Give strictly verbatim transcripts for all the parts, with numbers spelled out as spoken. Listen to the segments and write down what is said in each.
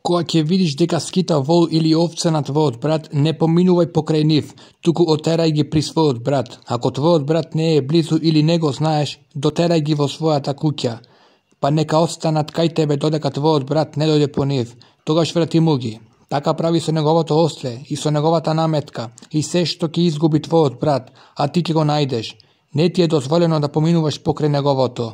Кога ќе видиш дека скита вол или овца на твојот брат, не поминувај покрај нив, туку отерај ги при својот брат. Ако твојот брат не е близу или не го знаеш, дотерај ги во својата куќа, па нека останат кај тебе додека твојот брат не дојде по нив, тогаш врати му ги. Така прави со неговото осле и со неговата наметка и се што ќе изгуби твојот брат, а ти ќе го најдеш. Не ти е дозволено да поминуваш покрај неговото.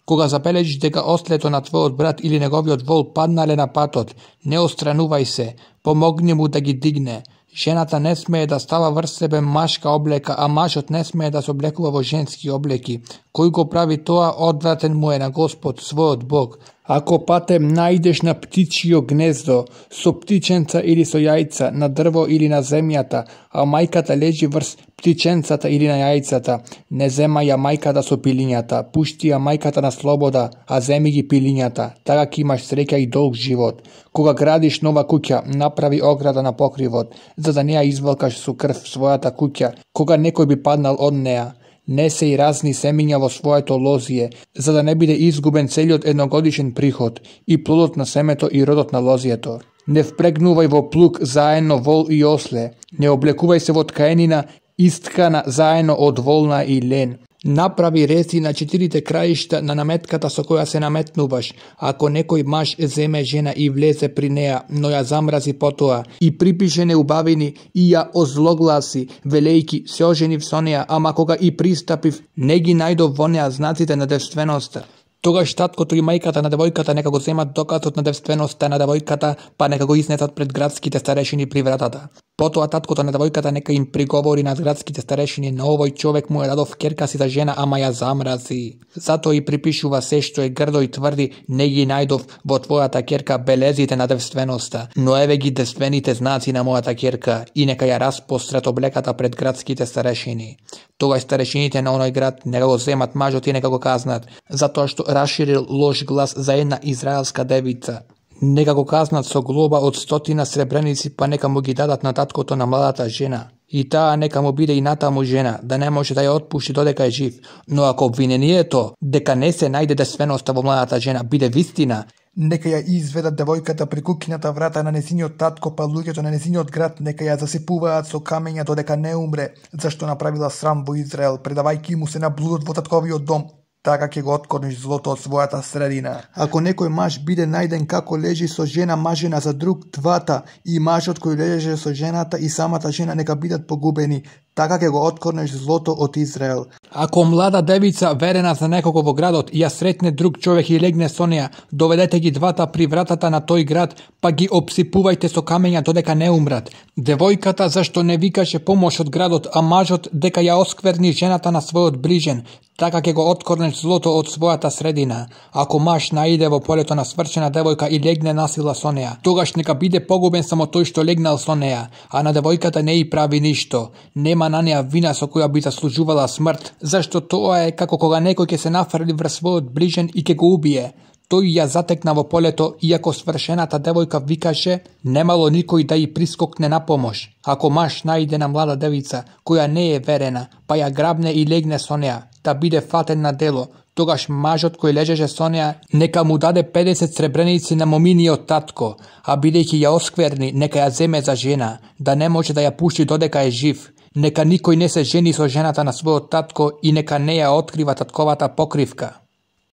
Кога забележиш дека ослето на твојот брат или неговиот вол паднале на патот, не остранувај се, помогни му да ги дигне. Жената не смее да става врз себе машка облека, а мажот не смее да се облекува во женски облеки. Кој го прави тоа, одвратен му е на Господ, својот Бог. Ако патем најдеш на птичио гнездо, со птиченца или со јајца, на дрво или на земјата, а мајката лежи врз птиченцата или на јајцата, не земај ја мајката со пилињата, пушти ја мајката на слобода, а земи ги пилињата, така ќе имаш среќа и долг живот. Кога градиш нова куќа, направи ограда на покривот, за да не ја извалкаш со крв својата куќа, кога некој би паднал од неа. Не се и разни семиња во своето лозие, за да не биде изгубен целиот едногодишен приход, и плодот на семето и родот на лозието. Не впрегнувај во плуг заедно вол и осле, не облекувај се во ткаенина исткана заедно од волна и лен. Направи рези на четирите краишта на наметката со која се наметнуваш. Ако некој маж земе жена и влезе при неа, но ја замрази потоа, и припише неубавини и ја озлогласи, велејки се оженив со неа, ама кога и пристапив, не ги најдов во неа знаците на девственоста. Тогаш таткото и мајката на девојката нека го земат доказот на девственоста на девојката, па нека го изнесат пред градските старешини при вратата. Потоа таткото на девојката нека им приговори на градските старешини: на овој човек му ја дадов ќерка си за жена, ама ја замрази. Затоа и припишува се што е грдо и тврди: не ги најдов во твојата ќерка белезите на девственоста, но еве ги девствените знаци на мојата ќерка, и нека ја распострат облеката пред градските старешини. Тогаш старешините на оној град нека го земат мажот и нека го казнат, затоа што расширил лош глас за една израелска девица. Нека го казнат со глоба од стотина сребреници, па нека му ги дадат на таткото на младата жена. И таа нека му биде и натаму жена, да не може да ја отпушти додека е жив. Но ако обвинението дека не се најде девственоста во младата жена биде вистина, нека ја изведат девојката при куќната врата на незиниот татко, па луѓето на незиниот град нека ја засипуваат со камења додека не умре, зашто направила срам во Израел, предавајќи му се на блудот во татковиот дом. Така ќе го откорниш злото од својата средина. Ако некој маж биде најден како лежи со жена мажена за друг, двата, и мажот кој лежеше со жената и самата жена нека бидат погубени, така ќе го откорнеш злото од Израел. Ако млада девица верена за некого во градот ја сретне друг човек и легне со неа, доведете ги двата при вратата на тој град, па ги обсипувајте со камења додека не умрат. Девојката зашто не викаше помош од градот, а мажот дека ја оскверни жената на својот ближен, така ќе го откорнеш злото од својата средина. Ако маж наиде во полето на свршена девојка и легне насила со неа, тогаш нека биде погубен само тој што легнал со неа, а на девојката не и прави ништо. Нема на неа вина со која би заслужувала смрт, зашто тоа е како кога некој ќе се нафрли врз својот ближен и ќе го убие. Тој ја затекна во полето, иако свршената девојка викаше, немало никој да ја прискокне на помош. Ако маж најде на млада девица, која не е верена, па ја грабне и легне со неа, да биде фатен на дело, тогаш мажот кој лежеше со неа, нека му даде педесет сребреници на моминиот татко, а бидејќи ја оскверни, нека ја земе за жена, да не може да ја пушти додека е жив. Нека никој не се жени со жената на својот татко и нека не ја открива татковата покривка.